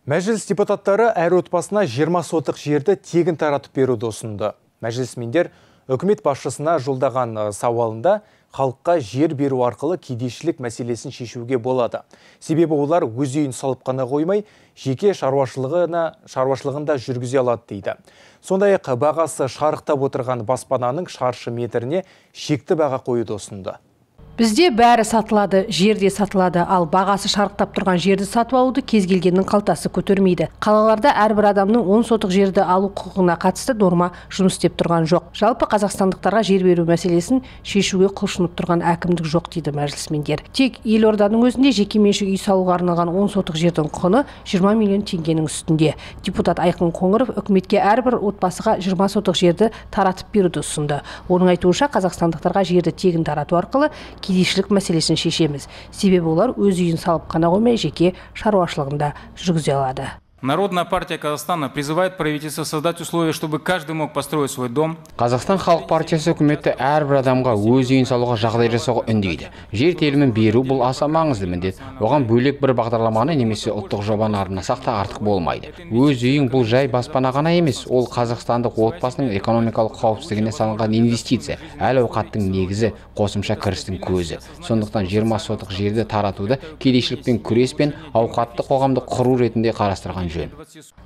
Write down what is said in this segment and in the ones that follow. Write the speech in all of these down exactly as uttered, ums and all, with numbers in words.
Мәжіліс депутаттары әр отбасына жиырма сотық жерді тегін таратып беруді ұсынды. Мәжілісмендер үкімет басшысына жолдаған сауалында халыққа жер беру арқылы кедейшілік мәселесін шешуге болады. Себебі олар өз үйін салып қана қоймай, жеке шаруашылығына шаруашылығында жүргізе алады дейді. Сондай-ақ бағасы шарықтап отырған баспананың шаршы метріне шекті баға қоюды ұсынды. Бізде бәрі сатылады, жерде сатылады, ал бағасы шарықтап тұрған жерді сатып алуды кез келгеннің қалтасы көтермейді. Қалаларда әрбір адамның он сотық жерді алу құқығына қатысты норма жұмыс істеп тұрған жоқ. Жалпы қазақстандықтарға жер беру мәселесін шешуге құлшынып тұрған әкімдік жоқ дейді мәжілісмендер. Тек елорданың өзінде жеке меншік үй салуға арналған он сотық жердің құны жиырма миллион теңгенің үстінде. Депутат Айқын Қоңыров үкіметке әрбір отбасыға жиырма сотық жерді таратып беруді ұсынды. Оның айтуынша қазақстандықтарға жерді тегін тарату арқылы кедейшілік мәселесін шешеміз. Себебі олар өз үйін салып қана қоймай, жеке шаруашылығында жүргізе алады. Народная партия Казахстана призывает правительство создать условия, чтобы каждый мог построить свой дом. Қазақстан халық партиясы үкіметті әрбір адамға өз үйін салуға жағдай жасауға үндейді. Жер телімін беру бұл аса маңызды міндет. Оған бөлек бір бағдарламаны немесе ұлттық жобаны арнасақ та артық болмайды. Өз үйің бұл жай баспана ғана емес, ол қазақстандық отбасының экономикалық қауіпсіздігіне салынған инвестиция, әл ауқаттың негізі, қосымша кірістің көзі. Сондықтан жиырма сотық жерді таратуды кедейшілікпен күрес пен ауқатты қоғамды құру ретінде қарастырған.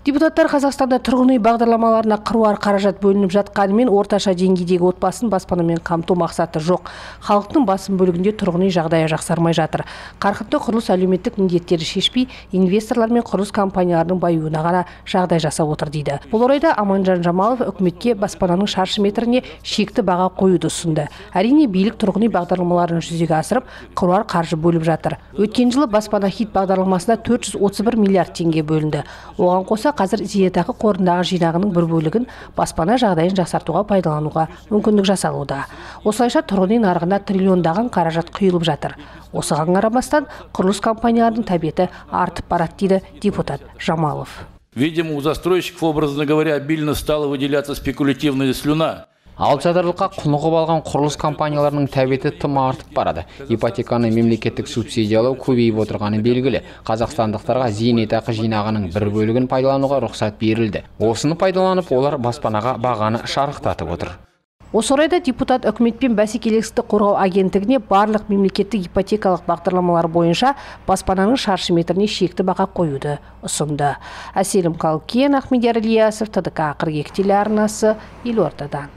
Депутаттар Қазақстанда тұрғын үй бағдарламаларына қыруар қаражат бөлініп жатқанымен орташа деңгейдегі отбасын баспанамен қамту мақсаты жоқ. Халықтың басым бөлігінде тұрғын үй жағдайы жақсармай жатыр. Қарқынды құрылыс әлеуметтік міндеттерді шешпей, инвесторлар мен құрылыс компанияларының баюына ғана жағдай жасап отыр дейді. Бұл орайда Аманжан Жамалов үкіметке баспананың шаршы метріне шекті баға қоюды ұсынды. Әрине билік тұрғын үй бағдарламаларын жүзеге асырып, қыруар қаржы бөліп жатыр. Өткен жылы баспана хит бағдарламасына төрт жүз отыз бір миллиард теңге бөлінді. Оған қоса қазір зейнетақы қорындағы жинағының бір бөлігін баспана жағдайын жақсартуға пайдалануға мүмкіндік жасалуда. Осылайша тұрғын үй нарығына триллиондаған қаражат құйылып жатыр. Осыған қарамастан құрылыс компанияларының тәбеті артып барады дейді депутат Жамалов. Видимо, у застройщиков, образно говоря, обильно стала выделяться спекулятивная слюна. Алсадарлыққа құнығып алған құрылыс компанияларының тәбеті тым артып барады. Ипотеканы мемлекеттік субсидиялау көбейіп отырғаны белгілі. Қазақстандықтарға зейнетақы жинағының бір бөлігін пайдалануға рұқсат берілді. Осыны пайдаланып, олар баспанаға бағаны шарықтатып отыр. Осы орайда депутат үкімет пен бәсекелестікті қорғау агенттігіне барлық мемлекеттік ипотекалық бағдарламалар бойынша баспананың шаршы метріне шекті баға қоюды ұсынды. Әселім Қалкен, Ахмедияр Ильясов, Т Д К қырық екі телеарнасы, Елордадан.